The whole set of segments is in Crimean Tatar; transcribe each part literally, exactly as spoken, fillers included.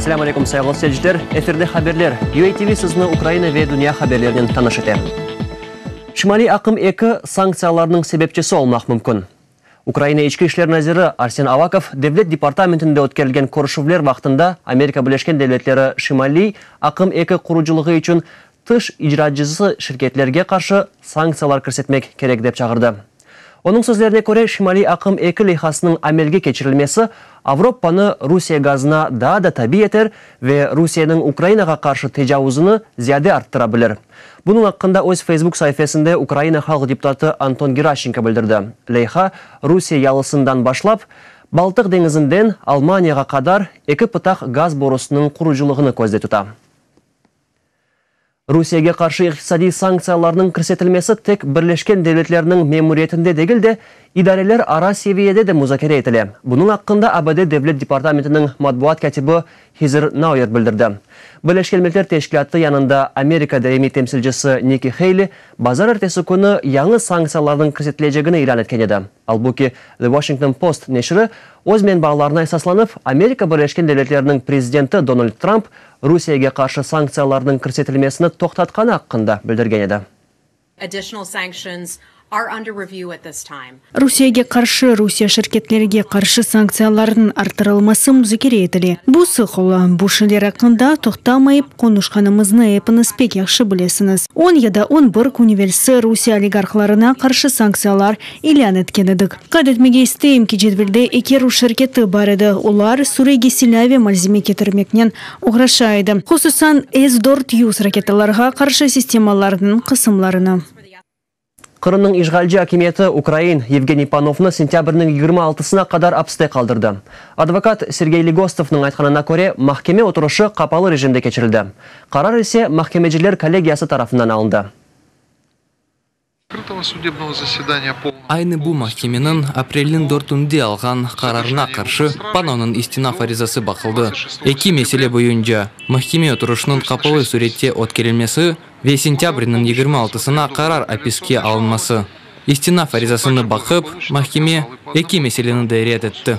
Selâm aleyküm, sayğılı seyirciler. Efirde haberler. U A T V sizni Ukraina ve dünya haberlerinen tanış ete. Şimaliy aqım eki sanktsiyalarnıñ sebepçisi olmaq mümkün. Ukraina İçki işler naziri Arsen Avakov Devlet departamentinde ötkerilgen körüşüvler vaqtında Amerika Birleşken Devletleri Şimaliy aqım eki qurucılığı içün tış icracısı şirketlerge qarşı sanktsiyalar kirsetmek kerek dep çağırdı. Onıñ sözlerine köre, Şimaliy aqım eki leyhasınıñ amelge keçirilmesi Avropanı Rusiye gazına daa da tabi eter ve Rusiyeniñ Ukrainağa qarşı tecavuzını ziyade arttıra bilir. Bunıñ aqqında öz Facebook saifesinde Ukraina halq deputatı Anton Geraşenko bildirdi. Leyha Rusiye yalısından başlap, Baltıq deñizinden Almaniyağa qadar eki pıtaq gaz borusınıñ qurucılığını közde tuta. Rusiyege qarşı iqtisadiy sanktsiyalarnıñ kirsetilmesi tek Birleşken Devletlerniñ memuriyetinde degil de, idareler ara seviyede de muzakere etile. Bunıñ aqqında A B D Devlet departamentiniñ matbuat kâtibi Hezer Nauert bildirdi. Birleşken Milletler Teşkilâtı yanında Amerika daimiy temsilcisi Nikki Heyli bazarertesi künü yañı sanktsiyalarnıñ kirsetilecegini ilân etken edi. Albuki The Washington Post neşiri öz menbalarına esaslanıp, Amerika Birleşken Devletleriniñ prezidenti Donald Trump Rusiyege qarşı sanktsiyalarnıñ kirsetilmesini toqtatqanı aqqında bildirgen edi. Additional sanctions are under review at this time. Rusiyege qarşı, Rusiye şirketlerge qarşı sanktsiyalarnıñ arttırılması muzakere etile. Bu sıq ola. Bu şeyler aqqında toqtamayıp qonuşqanımıznı epiñiz pek yahşı bilesiñiz. On ya da on bir kün evelsi Rusiye oligarhlarına qarşı sanktsiyalar ilân etken edik. Qayd etmege isteyim ki, cedvelde eki rus şirketi bar edi. Olar Suriyege silâ ve malzeme ketirmeknen oğraşa edi. Hususan S dört yüz raketalarğa qarşı sistemalarnıñ qısımlarını. Qırımnıñ işğalci akimiyeti ukrain Yevgeniy Panovnı sentâbrniñ yigirmi altısına qadar apiste qaldırdı. Advokat Sergey Legostovnıñ aytqanına köre, mahkeme oturışı qapalı rejimde keçirildi. Qarar ise mahkemeciler kollegiyası tarafından alındı. Aynı bu mahkemeniñ aprelniñ dörtünde alğan qararına qarşı Panovnıñ istinaf arizası baqıldı. Eki mesele boyunca: mahkeme oturışınıñ qapalı sürette ötkerilmesi ve sentâbrniñ yigirmi altısına qarar apiske alınması. İstinaf arizasını baqıp, mahkeme eki meseleni de red etti.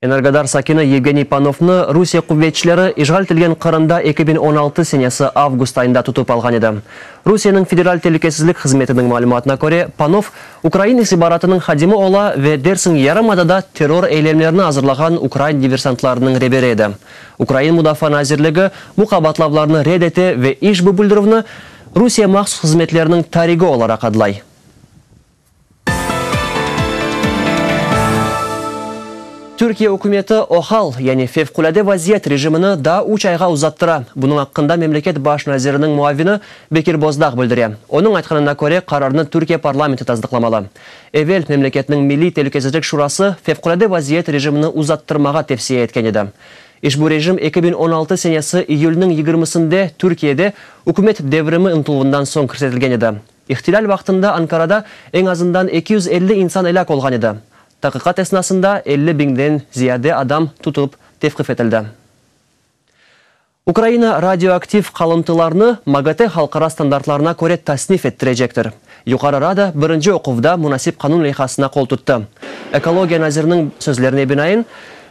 Energodar sakini Yevgeniy Panovnı Rusiye quvetçileri işğal etilgen Qırımda eki biñ on altı senesi avgust ayında tutıp alğan edi. Rusiyeniñ Federal telükesizlik hızmetiniñ malümatına köre, Panov ukrain istihbaratınıñ hadimi ola ve dersiñ yarımadada terror eylemlerini azırlağan ukrain diversantlarınıñ reberi edi. Ukrain Mudafaa nazirligi bu qabaatlavlarnı red ete ve işbu bildirüvni Rusiye mahsus hızmetleriniñ tarigi olaraq adlay. Türkiye ükümeti OHAL, yani fevqulâde vaziyet rejimini daa üç ayğa uzattıra. Bunıñ aqqında memleket baş naziriniñ muavini Bekir Bozdağ bildire. Onıñ aytqanına köre, qararnı Türkiye parlamenti tasdıqlamalı. Evel memleketniñ Milliy telükesizlik şurası fevqulâde vaziyet rejimini uzattırmağa tevsiye etken edi. İşbu rejim eki biñ on altı senesi iyülniñ yigirmisinde Türkiyede ükümet devrimi ıntıluvından soñ kirsetilgen edi. İhtilal vaqtında Ankarada eñ azından eki yüz elli insan elâk olğan edi. Taqiqat esnasında elli biñden ziyade adam tutulıp tevqif etildi. Ukraina radioaktiv qalımtılarnı MAGATE halqara standartlarına köre tasnif ettirecektir. Yuqarı Rada birinci oquvda munasip qanun leyhasına qol tuttı. Ekologiya naziriniñ sözlerine binaen,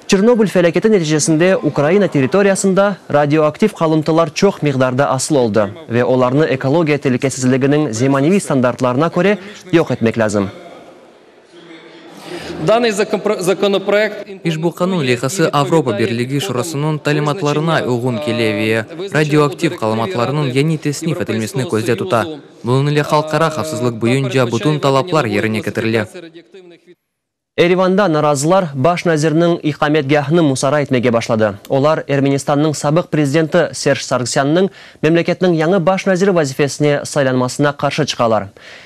Çernobıl felâketi neticesinde Ukraina territoriyasında radioaktiv qalımtılar çoq miqdarda asıl oldı ve olarnı ekologiya telükesizliginiñ zemaneviy standartlarına köre yoq etmek lâzim. Данный законопроект İşbu qanun leyhası Avropa Birligi Şurasınıñ talimatlarına uyğun kele ve radioaktiv qalımtılarnıñ yañı tasnif etilmesini közde tuta. Bunıñ ile halqara havfsızlıq boyunca bütün talaplar yerine ketirile. Erivanda narazılar baş nazirniñ iqametgâhını musadera etmege başladı. Olar Ermenistannıñ sabıq prezidenti Serj Sargsânnıñ memleketniñ yañı baş naziri vazifesine saylanmasına qarşı çıqalar.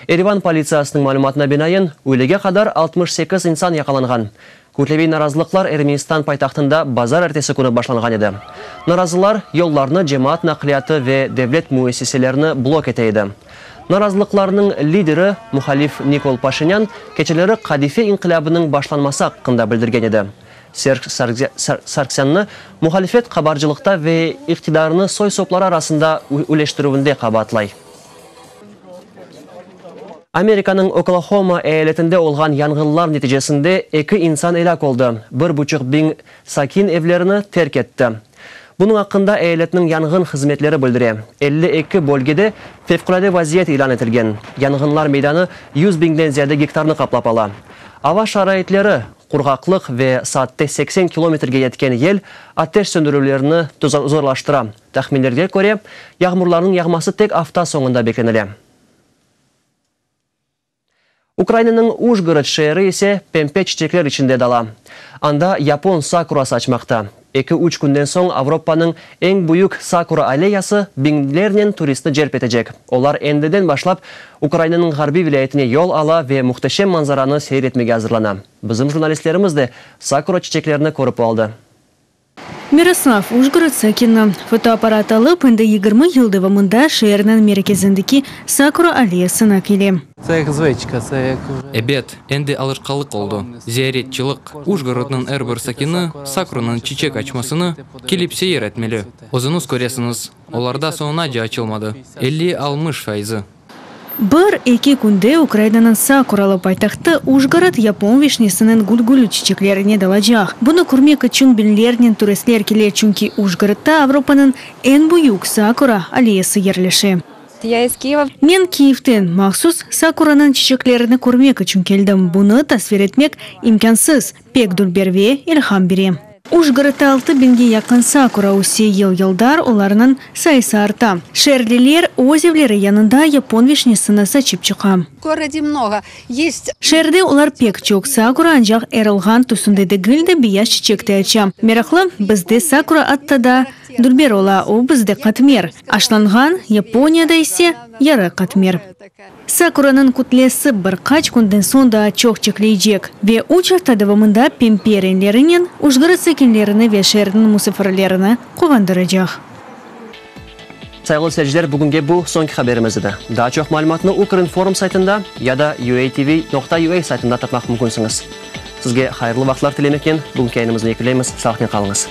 Erivan politsiyasınıñ malümatına binaen, üylege qadar altmış sekiz insan yaqalanğan. Kütleviy narazılıqlar Ermenistan paytahtında bazarertesi künü başlanğan edi. Narazılar yollarnı, cemaat naqliyatı ve devlet müessiselerini blok ete edi. Narazılıqlarnıñ lideri muhalif Nikol Paşinyan keçeleri qadife inqilâbınıñ başlanması aqqında bildirgen edi. Serj Sargsânnı muhalifet qabarcılıqta ve iqtidarını soy-sopları arasında üleştirüvinde qabaatlay. Amerikanıñ Oklahoma eyaletinde olğan yanğınlar neticesinde eki insan elâk oldı. Bir buçuq biñ sakin evlerini terk etti. Bunıñ aqqında eyaletniñ yanğın hızmetleri bildire. Elli eki bölgede fevqulâde vaziyet ilân etilgen. Yanğınlar meydanı yüz biñden ziyade gektarnı qaplap ala. Ava şaraitleri, qurğaqlıq ve saatte seksen kilometrge yetken yel ateş söndürüvlerini zorlaştıra. Tahminlerge köre, yağmurlarnıñ yağması tek afta soñunda beklenile. Ukrainanıñ Ujgorod şeeri ise pempe çiçekler içinde dala. Anda yapon sakurası açmaqta. Eki-üç künden soñ Avropanıñ eñ büyük sakura alleyası biñlernen turistni celp etecek. Olar endiden başlap Ukrainanıñ ğarbiy vilâyetine yol ala ve muhteşem manzaranı seyir etmege azırlana. Bizim jurnalistlerimiz de sakura çiçeklerini körip aldı. Miroslav, Ujgorod sakini, fotoapparat alıp, endi yigirmi yıl devamında şeerniñ merkezindeki sakura alleyasına kele. Ebet, endi alışqanlıq oldı. Ziyaretçilik. Ujgorodnıñ er bir sakini sakuranıñ çiçek açmasını kelip seyir etmeli. Özüñiz köresiñiz, olar daa soñunace açılmadı. Elli-altmış faizi. Bir-eki künde Ukrainanıñ sakuralı paytahtı Ujgorod yapon vişnesiniñ gülgülü çiçeklerine dalacaq. Bunı körmek içün biñlernen turistler kele, çünki Ujgorodda Avropanıñ eñ büyük sakura alleyası yerleşe. Я из Киева. Men Kiyevden mahsus sakuranıñ çiçeklerini körmek içün keldim. Bunı tasvir etmek imkânsız, pek dülber ve ilham bere. Ujgorodda altı biñge yaqın sakura öse, yıl-yıldan olarnıñ sayısı arta. Şeerliler öz evleri yanında yapon vişnesini saçıp çıqa. В городе много. Есть Şeerde olar pek çoq. Sakura ancaq erılğan tüsünde degil de, beyaz çiçek de aça. Meraqlı, bizde sakura atta daa dülber ola, o bizde qatmer aşlanğan, Yaponiyada ise yarı qatmer. Sakuranıñ kütlesi bir qaç künden soñ daa çoq çiçekleycek ve üç afta devamında pembe renklerinen Ujgorod sakinlerini ve şeerniñ musafirlerini quvandıracaq. Sayğılı seyirciler, bugünge bu soñki haberimiz edi. Daa çoq malümatnı Ukrinform saytında ya da U A T V nokta U A saytında tapmaq mümkünsiñiz. Sizge hayırlı vaqıtlar tilemeknen bugünki yayınımıznı yekünleymiz. Sağlıqnen qalıñız.